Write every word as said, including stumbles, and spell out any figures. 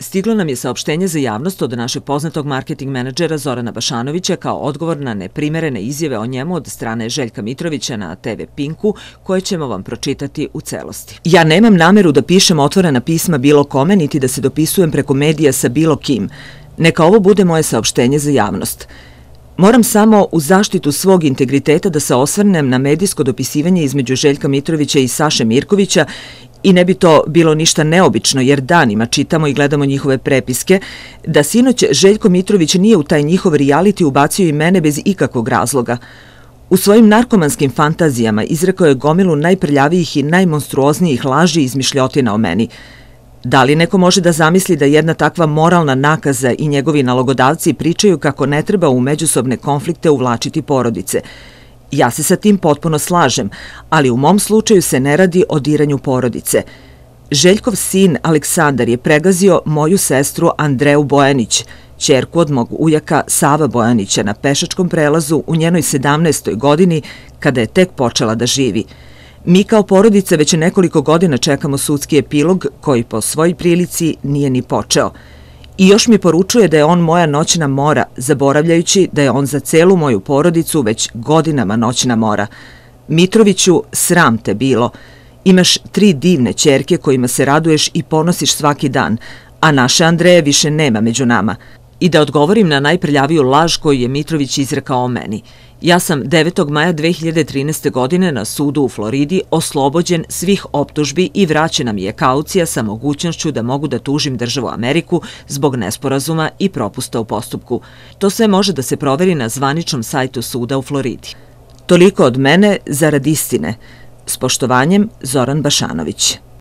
Stiglo nam je saopštenje za javnost od našeg poznatog marketing menadžera Zorana Bašanovića kao odgovor na neprimerene izjave o njemu od strane Željka Mitrovića na te ve Pinku, koje ćemo vam pročitati u celosti. Ja nemam nameru da pišem otvorena pisma bilo kome, niti da se dopisujem preko medija sa bilo kim. Neka ovo bude moje saopštenje za javnost. Moram samo u zaštitu svog integriteta da se osvrnem na medijsko dopisivanje između Željka Mitrovića i Saše Mirkovića. I ne bi to bilo ništa neobično, jer danima čitamo i gledamo njihove prepiske, da sinoć Željko Mitrović nije u taj njihov reality ubacio i mene bez ikakvog razloga. U svojim narkomanskim fantazijama izrekao je gomilu najprljavijih i najmonstruoznijih laži i izmišljotina o meni. Da li neko može da zamisli da jedna takva moralna nakaza i njegovi nalogodavci pričaju kako ne treba u međusobne konflikte uvlačiti porodice? Ja se sa tim potpuno slažem, ali u mom slučaju se ne radi o diranju porodice. Željkov sin Aleksandar je pregazio moju sestru Andreju Bojanić, ćerku od mog ujaka Sava Bojanića, na pešačkom prelazu u njenoj sedamnaestoj godini, kada je tek počela da živi. Mi kao porodica već nekoliko godina čekamo sudski epilog koji po svojoj prilici nije ni počeo. I još mi poručuje da je on moja noćna mora, zaboravljajući da je on za celu moju porodicu već godinama noćna mora. Mitroviću, sram te bilo. Imaš tri divne ćerke kojima se raduješ i ponosiš svaki dan, a naše Andreje više nema među nama. I da odgovorim na najprljaviju laž koju je Mitrović izrekao o meni. Ja sam devetog maja dve hiljade trinaeste. godine na sudu u Floridi oslobođen svih optužbi i vraćena mi je kaucija sa mogućnošću da mogu da tužim državu Ameriku zbog nesporazuma i propusta u postupku. To sve može da se proveri na zvaničnom sajtu suda u Floridi. Toliko od mene zarad istine. S poštovanjem, Zoran Bašanović.